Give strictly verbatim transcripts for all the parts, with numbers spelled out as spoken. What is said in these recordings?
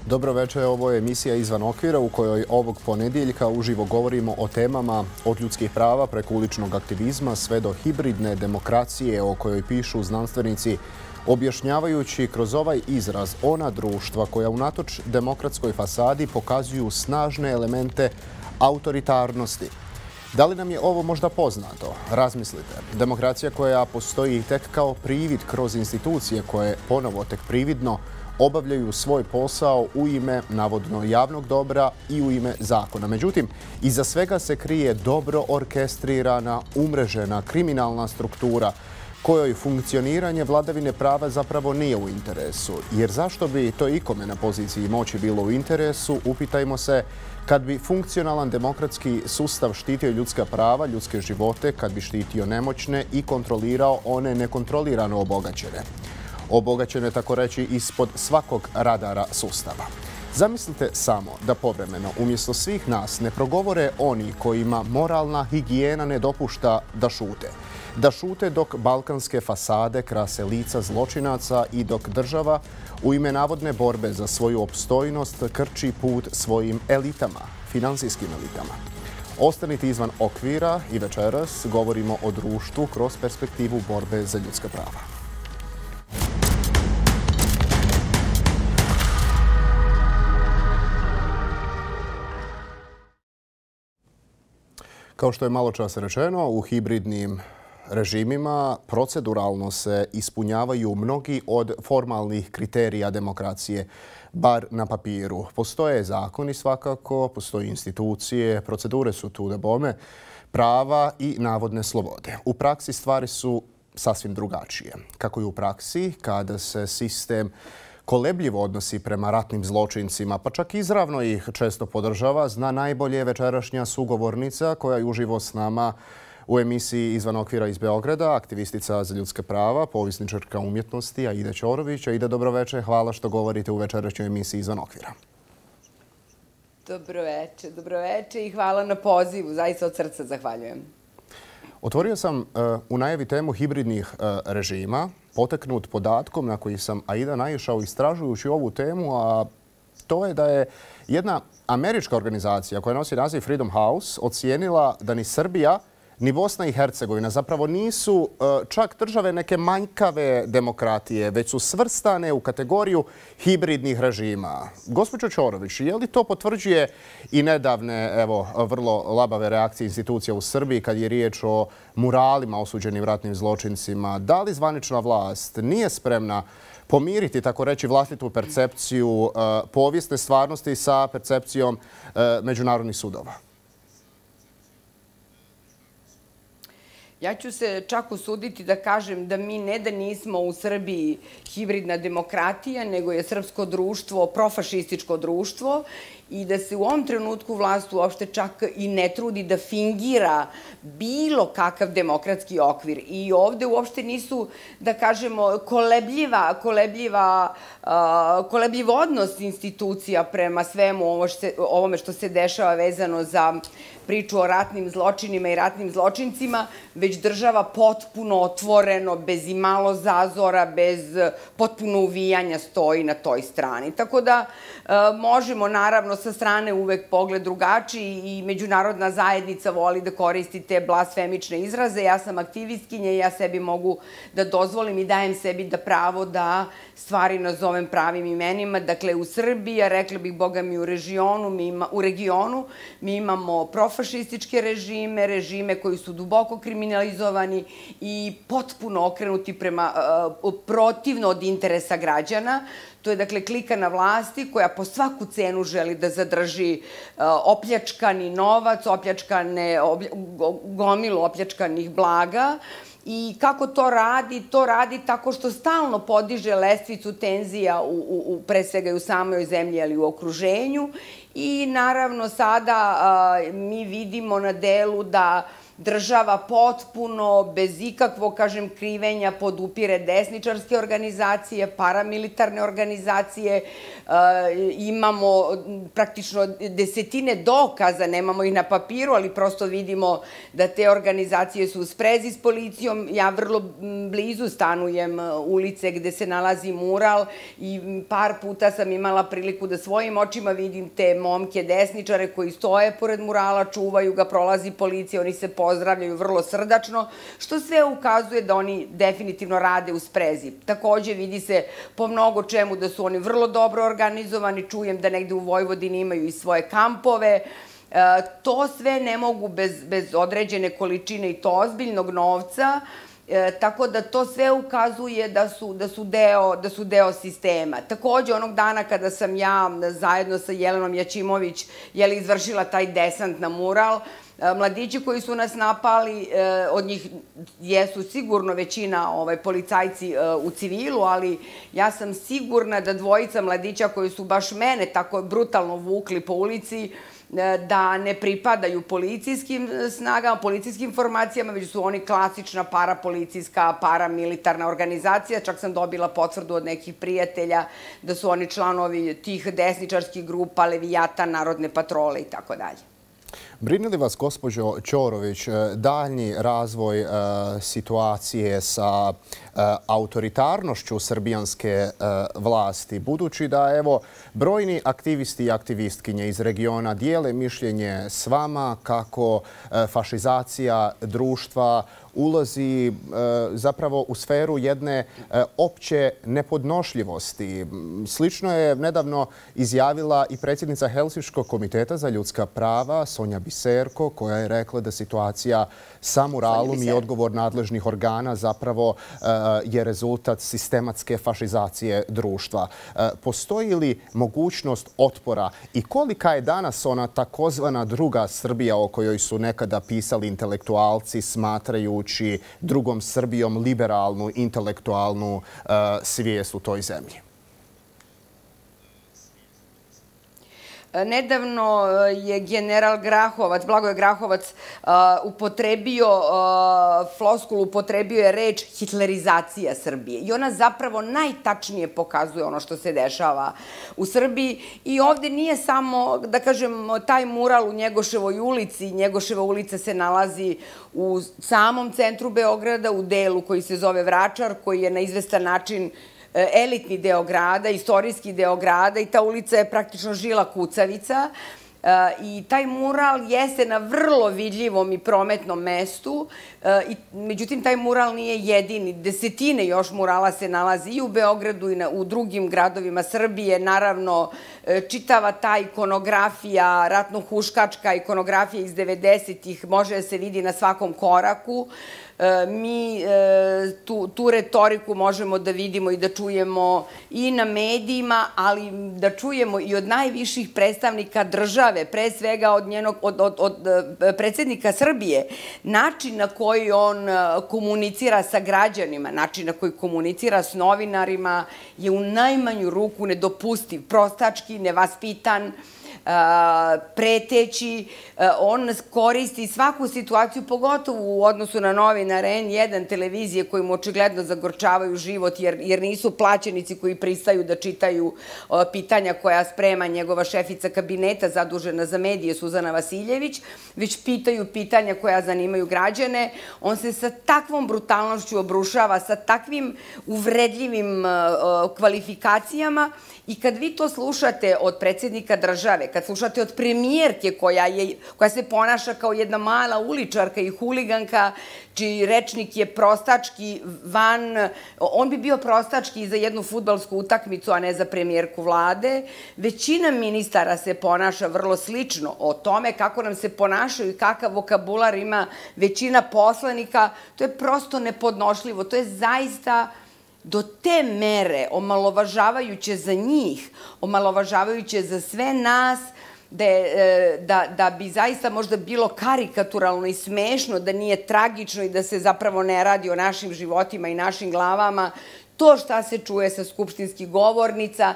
Dobro večer, ovo je emisija Izvan okvira u kojoj ovog ponedjeljka uživo govorimo o temama od ljudskih prava preko uličnog aktivizma sve do hibridne demokracije o kojoj pišu znanstvenici, objašnjavajući kroz ovaj izraz ona društva koja unatoč demokratskoj fasadi pokazuju snažne elemente autoritarnosti. Da li nam je ovo možda poznato? Razmislite. Demokracija koja postoji tek kao privid kroz institucije koje ponovo tek prividno obavljaju svoj posao u ime navodno javnog dobra i u ime zakona. Međutim, iza svega se krije dobro orkestrirana, umrežena kriminalna struktura kojoj funkcioniranje vladavine prava zapravo nije u interesu. Jer zašto bi to ikome na poziciji moći bilo u interesu, upitajmo se, kad bi funkcionalan demokratski sustav štitio ljudska prava, ljudske živote, kad bi štitio nemoćne i kontrolirao one nekontrolirano obogaćene. Obogaćene, tako reći, ispod svakog radara sustava. Zamislite samo da povremeno umjesto svih nas ne progovore oni kojima moralna higijena ne dopušta da šute. Da šute dok balkanske fasade krase lica zločinaca i dok država u ime navodne borbe za svoju opstojnost krči put svojim elitama, finansijskim elitama. Ostanite izvan okvira i večeras govorimo o društvu kroz perspektivu borbe za ljudska prava. Kao što je malo čas rečeno, u hibridnim režimima proceduralno se ispunjavaju mnogi od formalnih kriterija demokracije, bar na papiru. Postoje zakoni svakako, postoje institucije, procedure su tu da bome, prava i navodne slobode. U praksi stvari su sasvim drugačije. Kako je u praksi, kada se sistem kolebljivo odnosi prema ratnim zločincima, pa čak izravno ih često podržava, zna najbolje večerašnja sugovornica koja je uživo s nama u emisiji Izvan okvira iz Beograda, aktivistica za ljudska prava, povjesničarka umjetnosti Aida Ćorović. Aida, dobro večer. Hvala što govorite u večerašnjoj emisiji Izvan okvira. Dobro večer, dobro večer i hvala na pozivu. Zaista od srca zahvaljujem. Otvorio sam u najavi temu hibridnih režima, poteknut podatkom na koji sam, Aida, naišao istražujući ovu temu, a to je da je jedna američka organizacija koja nosi naziv Freedom House ocijenila da ni Srbija ni Bosna i Hercegovina zapravo nisu čak države neke manjkave demokratije, već su svrstane u kategoriju hibridnih režima. Gospođo Ćorović, je li to potvrđuje i nedavne, evo, vrlo labave reakcije institucija u Srbiji kad je riječ o muralima osuđenim ratnim zločincima? Da li zvanična vlast nije spremna pomiriti, tako reći, vlastitu percepciju povijesne stvarnosti sa percepcijom međunarodnih sudova? Ja ću se čak usuditi da kažem da mi ne da nismo u Srbiji hibridna demokratija, nego je srpsko društvo profašističko društvo i da se u ovom trenutku vlast uopšte čak i ne trudi da fingira bilo kakav demokratski okvir. I ovde uopšte nisu, da kažemo, kolebljiva, kolebljiva, kolebljiv odnos institucija prema svemu ovome što se dešava vezano za priču o ratnim zločinima i ratnim zločincima, već država potpuno otvoreno, bez imalo zazora, bez potpuno uvijanja stoji na toj strani. Tako da možemo, naravno, sa strane uvek pogled drugačiji i međunarodna zajednica voli da koristi te blasfemične izraze. Ja sam aktivistkinja i ja sebi mogu da dozvolim i dajem sebi da pravo da stvari nazovem pravim imenima. Dakle, u Srbiji, a rekla bih, boga mi, u regionu, u regionu, mi imamo profašističke režime, režime koji su duboko kriminalizovani i potpuno okrenuti prema protivno od interesa građana. To je, dakle, klika na vlasti koja po svaku cenu želi da zadrži opljačkani novac, opljačkane, gomilu opljačkanih blaga. I kako to radi? To radi tako što stalno podiže lestvicu tenzija u, pre svega i u samoj zemlji, ali u okruženju. I naravno sada mi vidimo na delu da država potpuno, bez ikakvog, kažem, krivenja podupire desničarske organizacije, paramilitarne organizacije. Imamo praktično desetine dokaza, nemamo ih na papiru, ali prosto vidimo da te organizacije su u sprezi s policijom. Ja vrlo blizu stanujem ulice gde se nalazi mural i par puta sam imala priliku da svojim očima vidim te momke desničare koji stoje pored murala, čuvaju ga, prolazi policija, oni se pozdravljaju vrlo srdačno, što sve ukazuje da oni definitivno rade u sprezi. Takođe vidi se po mnogo čemu da su oni vrlo dobro organizovani, čujem da negde u Vojvodini imaju i svoje kampove. To sve ne mogu bez određene količine i to ozbiljnog novca, tako da to sve ukazuje da su deo sistema. Takođe, onog dana kada sam ja zajedno sa Jelenom Jaćimović izvršila taj desant na mural, mladići koji su nas napali, od njih jesu sigurno većina policajci u civilu, ali ja sam sigurna da dvojica mladića koji su baš mene tako brutalno vukli po ulici, da ne pripadaju policijskim snagama, policijskim formacijama, već su oni klasična parapolicijska, paramilitarna organizacija. Čak sam dobila potvrdu od nekih prijatelja da su oni članovi tih desničarskih grupa, Levijata, Narodne patrole i tako dalje. Brine li vas, gospođo Ćorović, daljnji razvoj situacije sa autoritarnošću srbijanske vlasti, budući da, evo, brojni aktivisti i aktivistkinje iz regiona dijele mišljenje s vama kako fašizacija društva ulazi zapravo u sferu jedne opće nepodnošljivosti. Slično je nedavno izjavila i predsjednica Helsinškog komiteta za ljudska prava, Sonja Biserko, koja je rekla da situacija sa muralom i odgovor nadležnih organa zapravo je rezultat sistematske fašizacije društva. Postoji li mogućnost otpora i kolika je danas ona takozvana druga Srbija o kojoj su nekada pisali intelektualci smatrajući drugom Srbijom liberalnu, intelektualnu svijest u toj zemlji? Nedavno je general Grahovac, Blagoje Grahovac, upotrebio floskulu, upotrebio je reč hitlerizacija Srbije. I ona zapravo najtačnije pokazuje ono što se dešava u Srbiji. I ovde nije samo, da kažem, taj mural u Njegoševoj ulici. Njegoševa ulica se nalazi u samom centru Beograda, u delu koji se zove Vračar, koji je na izvestan način elitni deo grada, istorijski deo grada i ta ulica je praktično žila kucavica i taj mural jeste na vrlo vidljivom i prometnom mestu, međutim taj mural nije jedini. Desetine još murala se nalazi i u Beogradu i u drugim gradovima Srbije. Naravno, čitava ta ikonografija, ratno-huškačka ikonografija iz devedesetih može da se vidi na svakom koraku. Mi tu retoriku možemo da vidimo i da čujemo i na medijima, ali da čujemo i od najviših predstavnika države, pre svega od predsjednika Srbije. Način na koji on komunicira sa građanima, način na koji komunicira s novinarima je u najmanju ruku nedopustiv, prostački, nevaspitan, preteći. On koristi svaku situaciju, pogotovo u odnosu na novinare en jedan televizije koji mu očigledno zagorčavaju život jer nisu plaćenici koji pristaju da čitaju pitanja koja sprema njegova šefica kabineta zadužena za medije Suzana Vasiljević, već pitaju pitanja koja zanimaju građane. On se sa takvom brutalnošću obrušava, sa takvim uvredljivim kvalifikacijama i kad vi to slušate od predsjednika države, kad slušate od premijerke koja se ponaša kao jedna mala uličarka i huliganka, čiji rečnik je prostački van, on bi bio prostački i za jednu fudbalsku utakmicu, a ne za premijerku vlade. Većina ministara se ponaša vrlo slično. O tome kako nam se ponašaju i kakav vokabular ima većina poslanika, to je prosto nepodnošljivo. To je zaista do te mere omalovažavajuće za njih, omalovažavajuće za sve nas, da bi zaista možda bilo karikaturalno i smešno, da nije tragično i da se zapravo ne radi o našim životima i našim glavama. To šta se čuje sa skupštinskih govornica,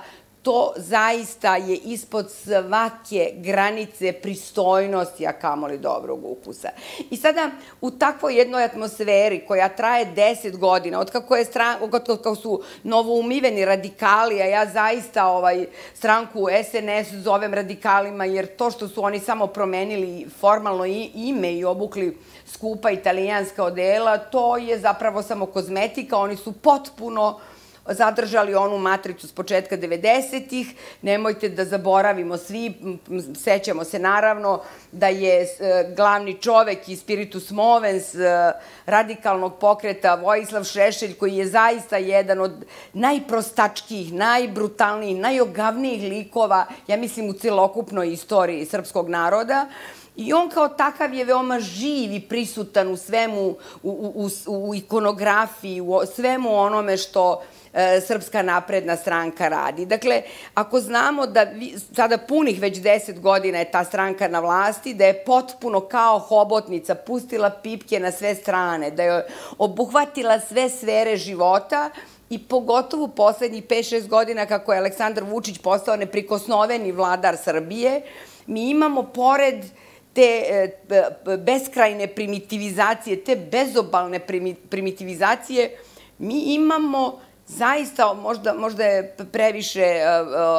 to zaista je ispod svake granice pristojnosti, a kamoli dobrog ukusa. I sada u takvoj jednoj atmosferi koja traje deset godina, od kako, je stran, od kako su novoumiveni radikali, a ja zaista ovaj, stranku S N S zovem radikalima, jer to što su oni samo promenili formalno ime i obukli skupa italijanska odela, to je zapravo samo kozmetika, oni su potpuno zadržali onu matricu s početka devedesetih. Nemojte da zaboravimo svi, sećamo se naravno da je glavni čovek i spiritus movens radikalnog pokreta Vojislav Šešelj, koji je zaista jedan od najprostačkijih, najbrutalnijih, najogavnijih likova, ja mislim, u celokupnoj istoriji srpskog naroda. I on kao takav je veoma živ i prisutan u svemu, u, u, u ikonografiji, u svemu onome što Srpska napredna stranka radi. Dakle, ako znamo da sada punih već deset godina je ta stranka na vlasti, da je potpuno kao hobotnica pustila pipke na sve strane, da je obuhvatila sve sfere života i pogotovo poslednjih pet šest godina kako je Aleksandar Vučić postao neprikosnoveni vladar Srbije, mi imamo pored te beskrajne primitivizacije, te bezobalne primitivizacije, mi imamo zaista, možda, možda je previše,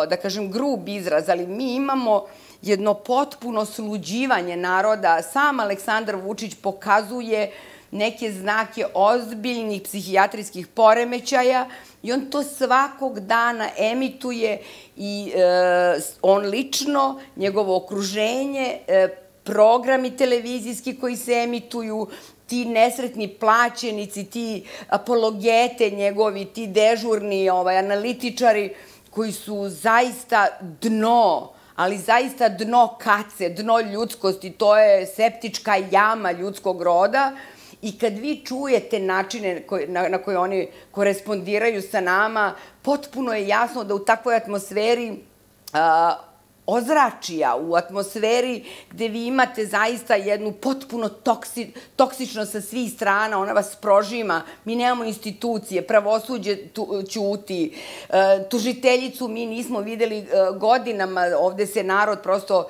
da kažem, grub izraz, ali mi imamo jedno potpuno sluđivanje naroda. Sam Aleksandar Vučić pokazuje neke znake ozbiljnih psihijatrijskih poremećaja i on to svakog dana emituje i on lično, njegovo okruženje, programi televizijski koji se emituju, ti nesretni plaćenici, ti apologete njegovi, ti dežurni analitičari koji su zaista dno, ali zaista dno kace, dno ljudskosti, to je septička jama ljudskog roda. I kad vi čujete načine na koje oni korespondiraju sa nama, potpuno je jasno da u takvoj atmosferi ozračija, u atmosferi gde vi imate zaista jednu potpuno toksičnost sa svih strana, ona vas prožima, mi nemamo institucije, pravosuđe ćuti, tužiteljicu mi nismo videli godinama, ovde se narod prosto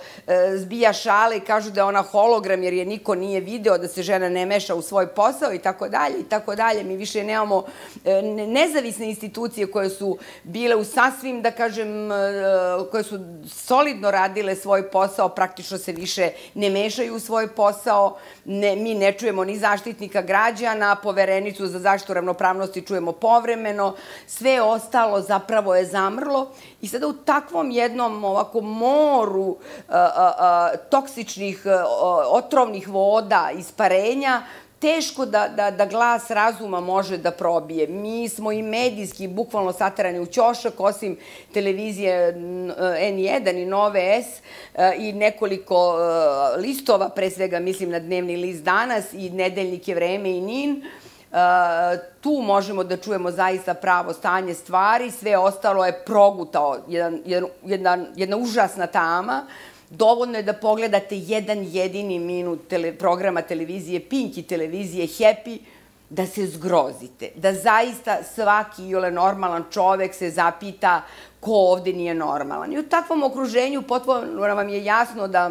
zbija šale i kažu da je ona hologram jer je niko nije video, da se žena ne meša u svoj posao i tako dalje i tako dalje. Mi više nemamo nezavisne institucije koje su bile u sasvim, da kažem, koje su solidne radile svoj posao, praktično se više ne mešaju u svoj posao, mi ne čujemo ni Zaštitnika građana, Poverenicu za zaštitu ravnopravnosti čujemo povremeno, sve ostalo zapravo je zamrlo i sada u takvom jednom ovako moru toksičnih, otrovnih voda, isparenja, teško da glas razuma može da probije. Mi smo i medijski bukvalno saterani u ćošak, osim televizije N jedan i Nove S i nekoliko listova, pre svega mislim na dnevni list Danas i nedeljnike Vreme i Nin. Tu možemo da čujemo zaista pravo stanje stvari, sve ostalo je progutao jedna užasna tama. Dovoljno je da pogledate jedan jedini minut programa televizije Pink i televizije Happy, da se zgrozite, da zaista svaki iole normalan čovek se zapita ko ovde nije normalan. I u takvom okruženju potpuno vam je jasno da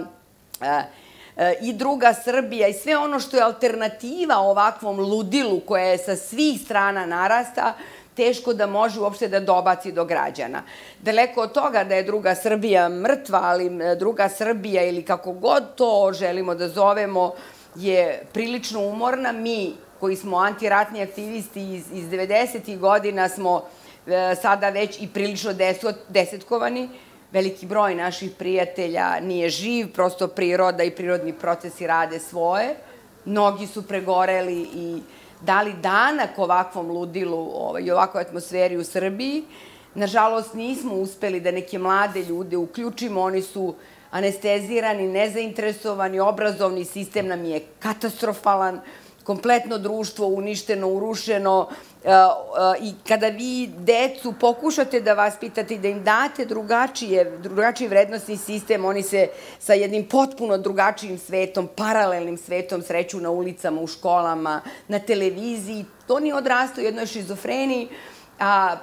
i druga Srbija i sve ono što je alternativa ovakvom ludilu koja je sa svih strana narasta, teško da može uopšte da dobaci do građana. Daleko od toga da je druga Srbija mrtva, ali druga Srbija ili kako god to želimo da zovemo je prilično umorna. Mi koji smo antiratni aktivisti iz devedesetih godina smo sada već i prilično desetkovani. Veliki broj naših prijatelja nije živ, prosto priroda i prirodni procesi rade svoje. Mnogi su pregoreli i dali danak ovakvom ludilu i ovakvoj atmosferi u Srbiji. Nažalost, nismo uspeli da neke mlade ljude uključimo, oni su anestezirani, nezainteresovani, obrazovni sistem nam je katastrofalan, kompletno društvo uništeno, urušeno i kada vi decu pokušate da vaspitate i da im date drugačiji vrednostni sistem, oni se sa jednim potpuno drugačijim svetom, paralelnim svetom sreću na ulicama, u školama, na televiziji. To ni odrastaju u jednoj šizofreniji, a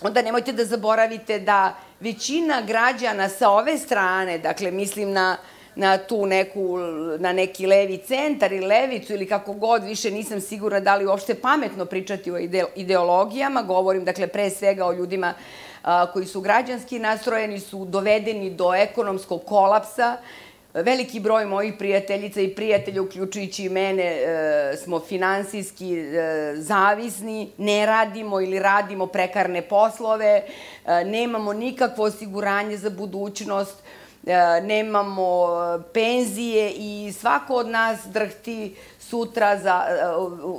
onda nemojte da zaboravite da većina građana sa ove strane, dakle mislim na na tu neku, na neki levi centar ili levicu ili kako god, više nisam sigurna da li uopšte pametno pričati o ideologijama. Govorim, dakle, pre svega o ljudima koji su građanski nastrojeni, su dovedeni do ekonomskog kolapsa. Veliki broj mojih prijateljica i prijatelja, uključujući i mene, smo finansijski zavisni, ne radimo ili radimo prekarne poslove, nemamo nikakvo osiguranje za budućnost, nemamo penzije i svako od nas drhti sutra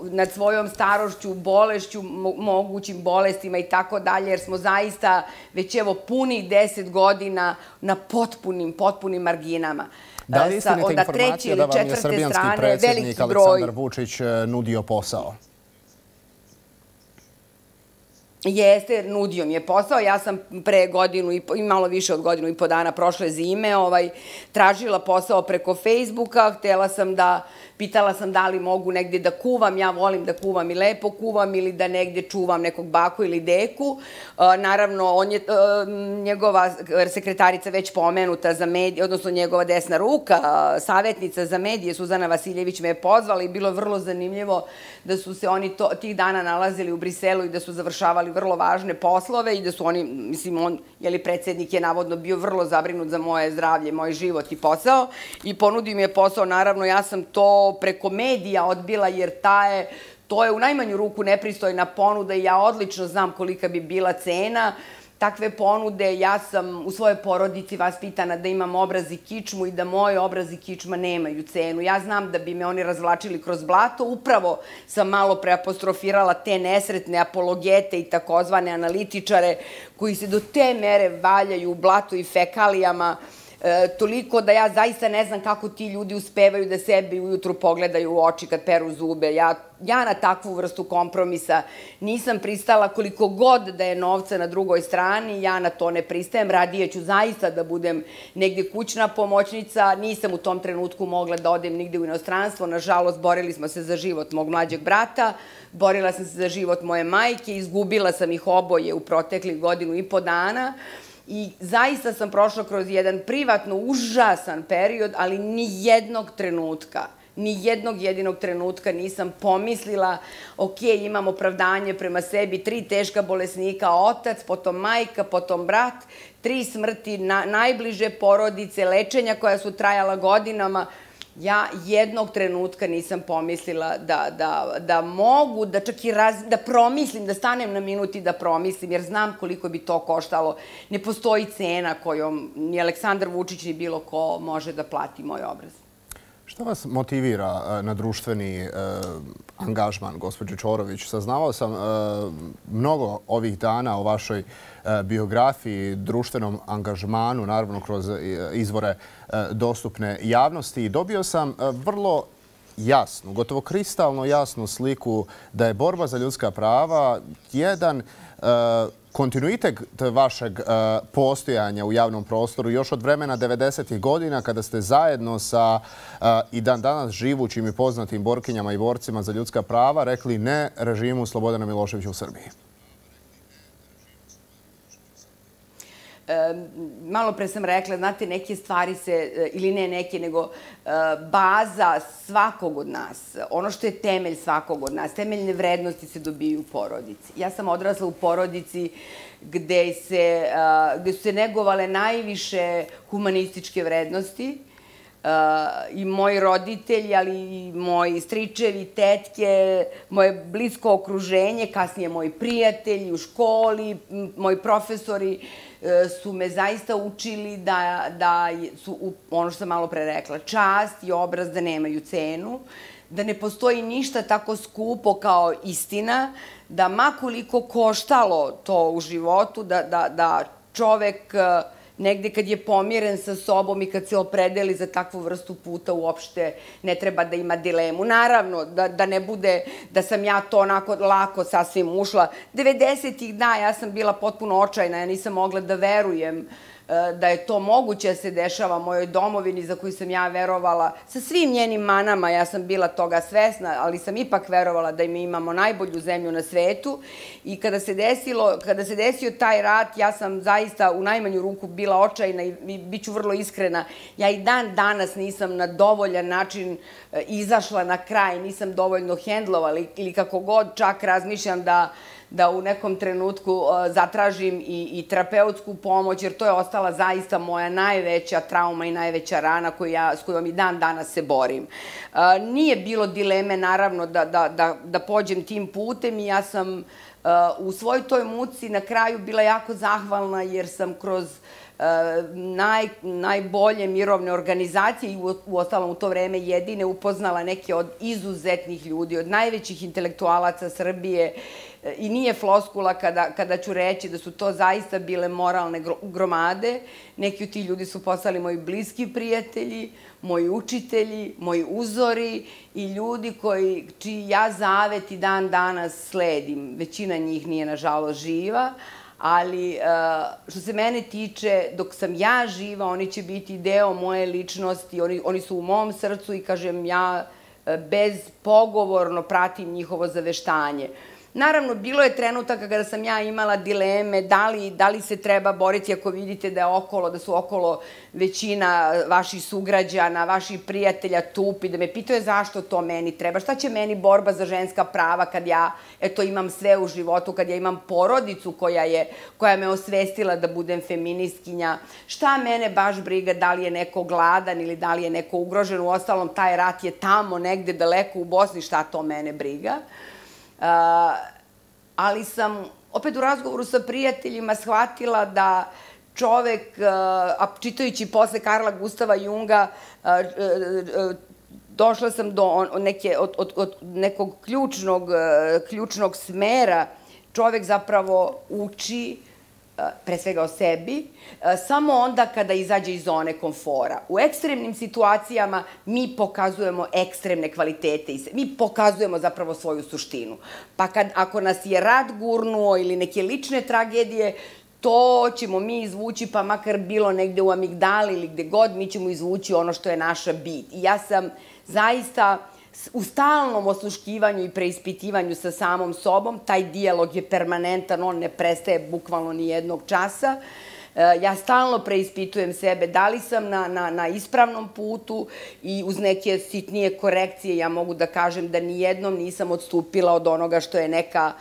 nad svojom starošću, bolešću, mogućim bolestima i tako dalje, jer smo zaista već evo punih deset godina na potpunim, potpunim marginama. Da li istinite informacija da vam je srbijanski predsjednik Aleksandar Vučić nudio posao? Jeste, nudio mi je posao. Ja sam pre godinu i malo više od godinu i po dana prošle zime tražila posao preko Facebooka. Htela sam da, pitala sam da li mogu negde da kuvam. Ja volim da kuvam i lepo kuvam ili da negde čuvam nekog baku ili deku. Naravno, on je, njegova sekretarica već pomenuta za medije, odnosno njegova desna ruka, savjetnica za medije, Suzana Vasiljević, me je pozvala i bilo vrlo zanimljivo da su se oni tih dana nalazili u Briselu i da su završavali vrlo važne poslove i da su oni, mislim, on, jeli, predsjednik je navodno bio vrlo zabrinut za moje zdravlje, moj život i posao i ponudio mi je posao. Naravno, ja sam to preko medija odbila jer ta je, to je u najmanju ruku nepristojna ponuda i ja odlično znam kolika bi bila cena takve ponude. Ja sam u svojoj porodici vaspitana da imam obraz i kičmu i da moj obraz i kičma nemaju cenu. Ja znam da bi me oni razvlačili kroz blato. Upravo sam malo preapostrofirala te nesretne apologete i takozvane analitičare koji se do te mere valjaju u blatu i fekalijama, toliko da ja zaista ne znam kako ti ljudi uspevaju da sebi ujutru pogledaju u oči kad peru zube. Ja na takvu vrstu kompromisa nisam pristala, koliko god da je novca na drugoj strani, ja na to ne pristajem. Radije ću zaista da budem negde kućna pomoćnica. Nisam u tom trenutku mogla da odem nigde u inostranstvo. Nažalost, borili smo se za život mog mlađeg brata, borila sam se za život moje majke, izgubila sam ih oboje u proteklih godinu i po dana. I zaista sam prošla kroz jedan privatno užasan period, ali ni jednog trenutka, ni jednog jedinog trenutka nisam pomislila, ok, imam opravdanje prema sebi, tri teška bolesnika, otac, potom majka, potom brat, tri smrti najbliže porodice, lečenja koja su trajala godinama. Ja jednog trenutka nisam pomislila da mogu, da čak i da promislim, da stanem na minut i da promislim, jer znam koliko bi to koštalo. Ne postoji cena kojom ni Aleksandar Vučić ni bilo ko može da plati moj obraz. Šta vas motivira na društveni angažman, gospođo Čorović? Saznavao sam mnogo ovih dana o vašoj biografiji, društvenom angažmanu, naravno kroz izvore dostupne javnosti. I dobio sam vrlo jasnu, gotovo kristalno jasnu sliku da je borba za ljudska prava jedan kontinuitet vašeg postojanja u javnom prostoru još od vremena devedesetih godina kada ste zajedno sa i dan danas živućim i poznatim borkinjama i borcima za ljudska prava rekli ne režimu Slobodana Miloševića u Srbiji. Malo pre sam rekla, znate, neke stvari se, ili ne neke, nego baza svakog od nas, ono što je temelj svakog od nas, temeljne vrednosti se dobiju u porodici. Ja sam odrasla u porodici gde su se negovale najviše humanističke vrednosti i moji roditelji, ali i moji stričevi, tetke, moje blisko okruženje, kasnije moji prijatelji u školi, moji profesori su me zaista učili da su, ono što sam malo pre rekla, čast i obraz da nemaju cenu, da ne postoji ništa tako skupo kao istina, da makoliko koštalo to u životu, da čovek negde kad je pomiren sa sobom i kad se opredeli za takvu vrstu puta uopšte ne treba da ima dilemu. Naravno, da ne bude da sam ja to onako lako sasvim ušla. devedesetih, da, ja sam bila potpuno očajna, ja nisam mogla da verujem da je to moguće da se dešava mojoj domovini za koju sam ja verovala, sa svim njenim manama, ja sam bila toga svesna, ali sam ipak verovala da mi imamo najbolju zemlju na svetu i kada se desilo, kada se desio taj rat, ja sam zaista u najmanju ruku bila očajna i bit ću vrlo iskrena, ja i dan danas nisam na dovoljan način izašla na kraj, nisam dovoljno hendlovala ili kako god, čak razmišljam da da u nekom trenutku zatražim i terapeutsku pomoć, jer to je ostala zaista moja najveća trauma i najveća rana s kojom i dan danas se borim. Nije bilo dileme, naravno, da pođem tim putem i ja sam u svoj toj muci na kraju bila jako zahvalna jer sam kroz najbolje mirovne organizacije i u ostalom u to vreme jedine upoznala neke od izuzetnih ljudi, od najvećih intelektualaca Srbije i nije floskula kada ću reći da su to zaista bile moralne gromade. Neki od tih ljudi su postali moji bliski prijatelji, moji učitelji, moji uzori i ljudi čiji ja zavet i dan danas sledim. Većina njih nije, nažalost, živa, ali što se mene tiče, dok sam ja živa, oni će biti deo moje ličnosti, oni su u mom srcu i, kažem, ja bezpogovorno pratim njihovo zaveštanje. Naravno, bilo je trenutaka kada sam ja imala dileme da li se treba boriti ako vidite da je okolo, da su okolo većina vaših sugrađana, vaših prijatelja tupi, da me pitaju zašto to meni treba, šta će meni borba za ženska prava kad ja, eto, imam sve u životu, kad ja imam porodicu koja me osvestila da budem feministkinja, šta mene baš briga da li je neko gladan ili da li je neko ugrožen, u ostalom taj rat je tamo negde daleko u Bosni, šta to mene briga. Ali sam opet u razgovoru sa prijateljima shvatila da čovek, a čitajući posle Karla Gustava Junga, došla sam do nekog ključnog smera. Čovek zapravo uči, pre svega o sebi, samo onda kada izađe iz zone komfora. U ekstremnim situacijama mi pokazujemo ekstremne kvalitete, mi pokazujemo zapravo svoju suštinu. Pa ako nas je rat gurnuo ili neke lične tragedije, to ćemo mi izvući, pa makar bilo negde u amigdali ili gde god, mi ćemo izvući ono što je naša bit. I ja sam zaista u stalnom osluškivanju i preispitivanju sa samom sobom, taj dijalog je permanentan, on ne prestaje bukvalno ni jednog časa. Ja stalno preispitujem sebe da li sam na ispravnom putu i uz neke sitnije korekcije ja mogu da kažem da nijednom nisam odstupila od onoga što je neka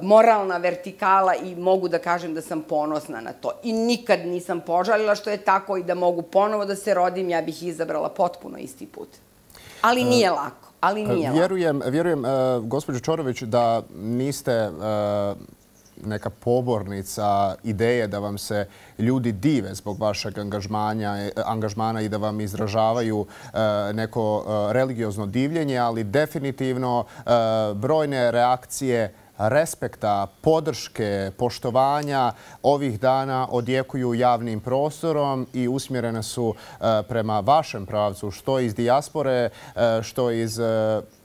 moralna vertikala i mogu da kažem da sam ponosna na to. I nikad nisam požalila što je tako i da mogu ponovo da se rodim, ja bih izabrala potpuno isti put. Ali nije lako, ali nije lako. Vjerujem, vjerujem, gospođo Čorović, da niste neka pobornica ideje da vam se ljudi dive zbog vašeg angažmana i da vam izražavaju neko religiozno divljenje, ali definitivno brojne reakcije respekta, podrške, poštovanja ovih dana odjekuju javnim prostorom i usmjerene su prema vašem pravcu, što iz dijaspore, što iz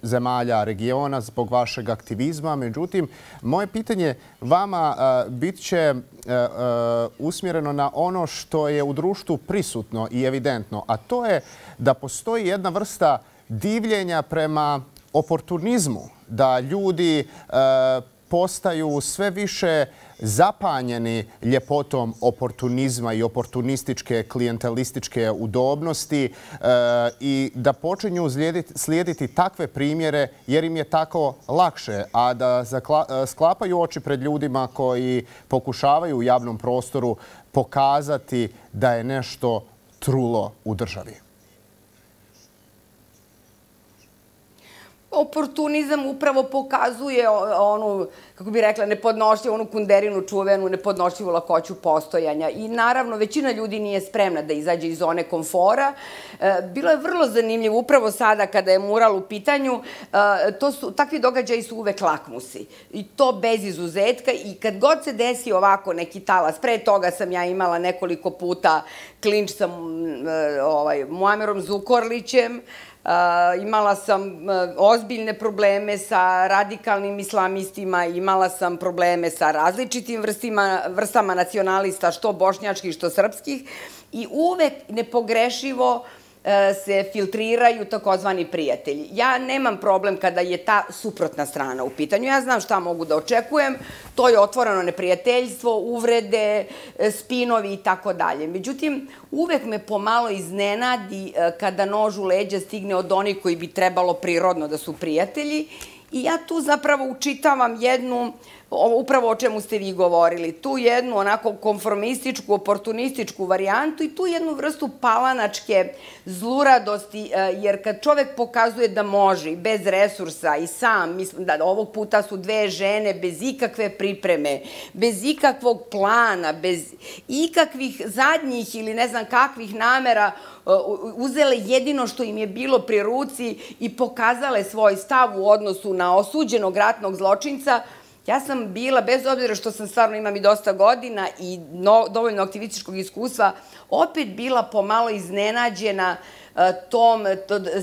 zemalja regiona zbog vašeg aktivizma. Međutim, moje pitanje vama bit će usmjereno na ono što je u društvu prisutno i evidentno, a to je da postoji jedna vrsta divljenja prema oportunizmu, da ljudi postaju sve više zapanjeni ljepotom oportunizma i oportunističke klijentelističke udobnosti i da počinju slijediti takve primjere jer im je tako lakše, a da sklapaju oči pred ljudima koji pokušavaju u javnom prostoru pokazati da je nešto trulo u državi. Oportunizam upravo pokazuje onu, kako bih rekla, nepodnošljivu, onu kunderinu čuvenu, nepodnošljivu lakoću postojanja. I naravno, većina ljudi nije spremna da izađe iz zone komfora. Bilo je vrlo zanimljivo, upravo sada kada je mural u pitanju, takvi događaji su uvek lakmusi. I to bez izuzetka. I kad god se desi ovako neki talas, pre toga sam ja imala nekoliko puta klinč sa Muamerom Zukorlićem, Imala sam ozbiljne probleme sa radikalnim islamistima, imala sam probleme sa različitim vrstama nacionalista, što bošnjačkih, što srpskih, i uvek nepogrešivo se filtriraju takozvani prijatelji. Ja nemam problem kada je ta suprotna strana u pitanju. Ja znam šta mogu da očekujem. To je otvoreno neprijateljstvo, uvrede, spinovi i tako dalje. Međutim, uvek me pomalo iznenadi kada nož u leđa stigne od onih koji bi trebalo prirodno da su prijatelji. I ja tu zapravo učitavam jednu, upravo o čemu ste vi govorili, tu jednu onako konformističku, oportunističku varijantu i tu jednu vrstu palanačke zluradosti, jer kad čovek pokazuje da može i bez resursa i sam, mislim da ovog puta su dve žene bez ikakve pripreme, bez ikakvog plana, bez ikakvih zadnjih ili ne znam kakvih namera, uzele jedino što im je bilo pri ruci i pokazale svoj stav u odnosu na osuđenog ratnog zločinca. Ja sam bila, bez obzira što sam stvarno imam i dosta godina i dovoljno aktivističkog iskustva, opet bila pomalo iznenađena tom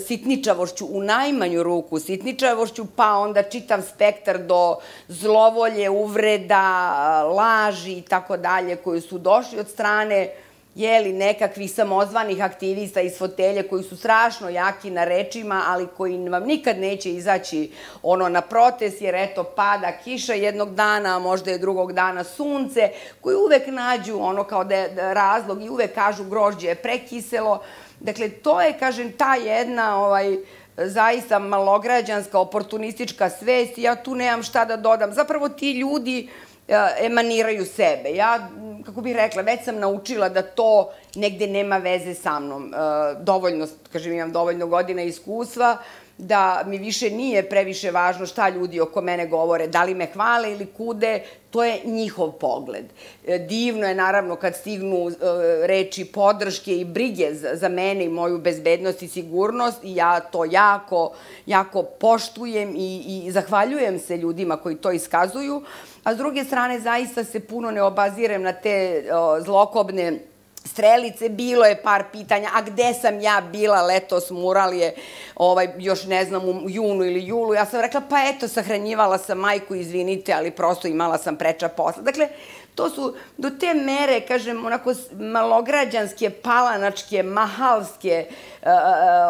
sitničavošću, u najmanju ruku sitničavošću, pa onda čitav spektar do zlovolje, uvreda, laži i tako dalje, koji su došli od strane jeli, nekakvih samozvanih aktivista iz fotelje koji su strašno jaki na rečima, ali koji vam nikad neće izaći ono na protest, jer eto pada kiša jednog dana, a možda je drugog dana sunce, koji uvek nađu ono kao da je razlog i uvek kažu grožđe je prekiselo. Dakle, to je, kažem, ta jedna ovaj, zaista malograđanska, oportunistička svest i ja tu nemam šta da dodam. Zapravo ti ljudi emaniraju sebe. Ja, kako bih rekla, već sam naučila da to negde nema veze sa mnom. Dovoljno, kažem, imam dovoljno godina iskustva, da mi više nije previše važno šta ljudi oko mene govore, da li me hvale ili kude, to je njihov pogled. Divno je, naravno, kad stignu reči podrške i brige za mene i moju bezbednost i sigurnost i ja to jako, jako poštujem i zahvaljujem se ljudima koji to iskazuju, a s druge strane zaista se puno ne obazirem na te zlokobne strelice. Bilo je par pitanja, a gde sam ja bila letos, mural je još ne znam u junu ili julu, ja sam rekla pa eto sahranjivala sam majku, izvinite, ali prosto imala sam preča posla. Dakle, to su do te mere, kažem, onako malograđanske, palanačke, mahalske,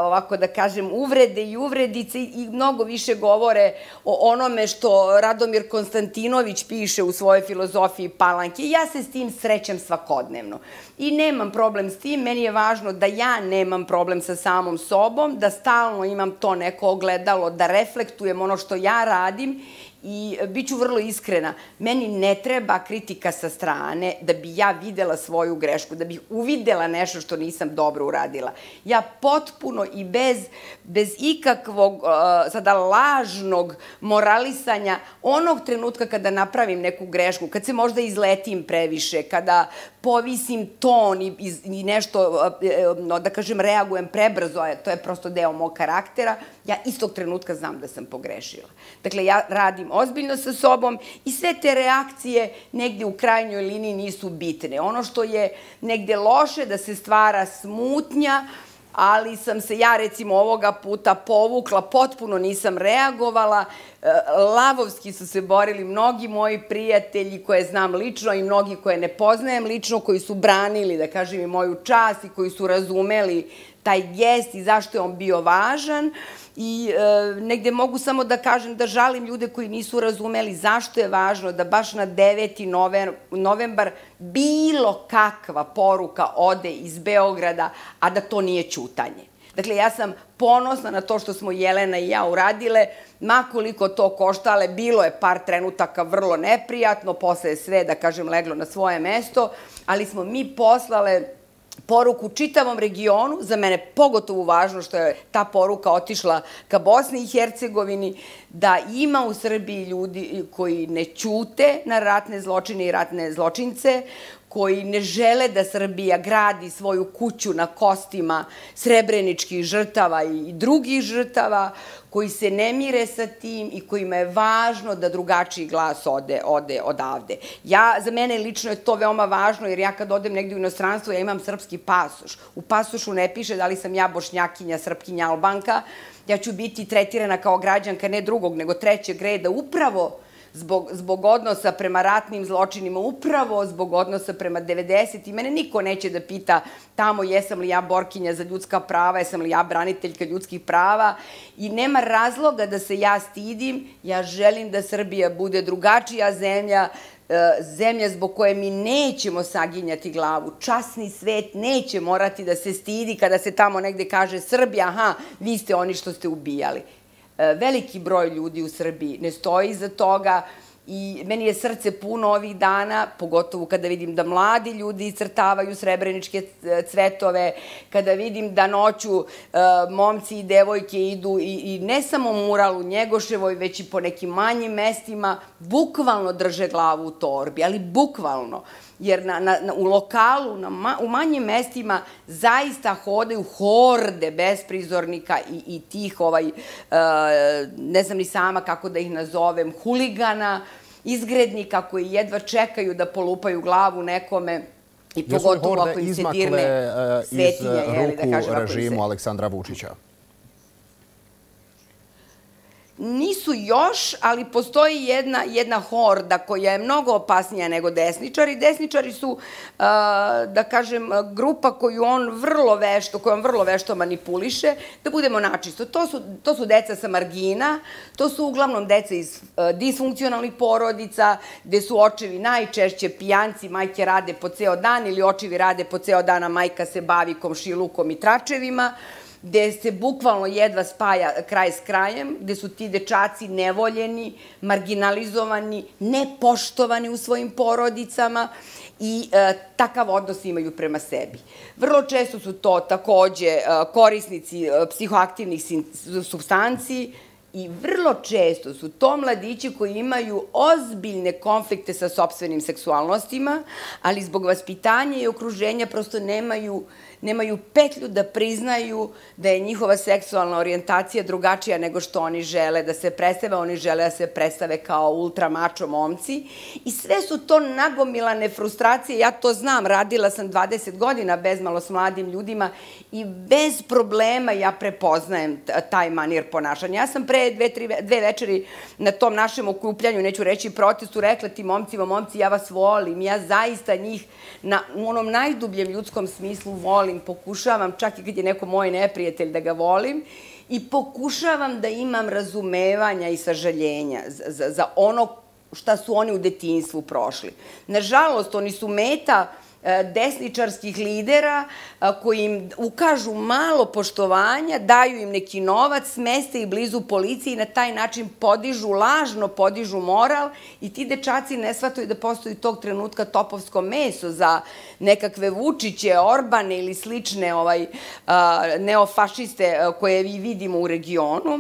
ovako da kažem, uvrede i uvredice i mnogo više govore o onome što Radomir Konstantinović piše u svojoj filozofiji Palanke. Ja se s tim srećem svakodnevno i nemam problem s tim. Meni je važno da ja nemam problem sa samom sobom, da stalno imam to neko ogledalo, da reflektujem ono što ja radim. I bit ću vrlo iskrena, meni ne treba kritika sa strane da bi ja videla svoju grešku, da bih uvidela nešto što nisam dobro uradila. Ja potpuno i bez ikakvog sada lažnog moralisanja onog trenutka kada napravim neku grešku, kad se možda izletim previše, kada povisim ton i nešto, da kažem, reagujem prebrzo, to je prosto deo mog karaktera, ja istog trenutka znam da sam pogrešila. Dakle, ja radim ozbiljno sa sobom i sve te reakcije negde u krajnjoj liniji nisu bitne. Ono što je negde loše da se stvara smutnja, ali sam se ja recimo ovoga puta povukla, potpuno nisam reagovala, lavovski su se borili mnogi moji prijatelji koje znam lično i mnogi koje ne poznajem lično, koji su branili, da kažem, i moju čast i koji su razumeli taj gest i zašto je on bio važan. I negde mogu samo da kažem da žalim ljude koji nisu razumeli zašto je važno da baš na deveti novembar bilo kakva poruka ode iz Beograda, a da to nije ćutanje. Dakle, ja sam ponosna na to što smo Jelena i ja uradile, makoliko to koštale, bilo je par trenutaka vrlo neprijatno, posle je sve, da kažem, leglo na svoje mesto, ali smo mi poslale poruku čitavom regionu, za mene pogotovo važno što je ta poruka otišla ka Bosni i Hercegovini, da ima u Srbiji ljudi koji ne ćute na ratne zločine i ratne zločince, koji ne žele da Srbija gradi svoju kuću na kostima srebreničkih žrtava i drugih žrtava, koji se ne mire sa tim i kojima je važno da drugačiji glas ode, ode odavde. Ja, za mene lično je to veoma važno, jer ja kad odem negdje u inostranstvo, ja imam srpski pasoš. U pasošu ne piše da li sam ja Bošnjakinja, Srpkinja, Albanka. Ja ću biti tretirana kao građanka ne drugog, nego trećeg reda, upravo Zbog, zbog odnosa prema ratnim zločinima, upravo zbog odnosa prema devedesetim. Mene niko neće da pita tamo jesam li ja borkinja za ljudska prava, jesam li ja braniteljka ljudskih prava i nema razloga da se ja stidim. Ja želim da Srbija bude drugačija zemlja, zemlja zbog koje mi nećemo saginjati glavu. Časni svet neće morati da se stidi kada se tamo negde kaže Srbija, aha, vi ste oni što ste ubijali. Veliki broj ljudi u Srbiji ne stoji iza toga i meni je srce puno ovih dana, pogotovo kada vidim da mladi ljudi iscrtavaju srebreničke cvetove, kada vidim da noću momci i devojke idu i ne samo mural u Njegoševoj, već i po nekim manjim mestima, bukvalno drže glavu u torbi, ali bukvalno. Jer na, na, u lokalu, na, u manjim mestima zaista hodaju horde besprizornika i, i tih, ovaj, uh, ne znam ni sama kako da ih nazovem, huligana, izgrednika koji jedva čekaju da polupaju glavu nekome i pogotovo ako im se dirne svetinja. Jesu li horde izmakle iz ruku režimu Aleksandra Vučića? Nisu još, ali postoji jedna, jedna horda koja je mnogo opasnija nego desničari. Desničari su, da kažem, grupa koju on vrlo vešto, koju on vrlo vešto manipuliše, da budemo načisto. To su, to su deca sa margina, to su uglavnom deca iz disfunkcionalnih porodica, gde su očevi najčešće pijanci, majke rade po ceo dan ili očevi rade po ceo dan, a majka se bavi komšilukom i tračevima, gde se bukvalno jedva spaja kraj s krajem, gde su ti dečaci nevoljeni, marginalizovani, nepoštovani u svojim porodicama i e, takav odnos imaju prema sebi. Vrlo često su to takođe e, korisnici e, psihoaktivnih supstanci i vrlo često su to mladići koji imaju ozbiljne konflikte sa sopstvenim seksualnostima, ali zbog vaspitanja i okruženja prosto nemaju nemaju petlju da priznaju da je njihova seksualna orijentacija drugačija nego što oni žele da se predstave. Oni žele da se predstave kao ultra mačo momci i sve su to nagomilane frustracije. Ja to znam, radila sam dvadeset godina bezmalo s mladim ljudima i bez problema ja prepoznajem taj manir ponašanja. Ja sam pre dve, tri, dve večeri na tom našem okupljanju, neću reći protestu, rekla ti momcima, momci, ja vas volim, ja zaista njih na, u onom najdubljem ljudskom smislu volim, pokušavam, čak i kad je neko moj neprijatelj, da ga volim i pokušavam da imam razumevanja i sažaljenja za, za, za ono šta su oni u detinjstvu prošli. Nažalost, oni su meta desničarskih lidera koji im ukažu malo poštovanja, daju im neki novac, smeste ih blizu policiji i na taj način podižu, lažno podižu moral i ti dečaci ne shvataju da postoji tog trenutka topovsko meso za nekakve Vučiće, Orbane ili slične ovaj, neofašiste koje vi vidimo u regionu.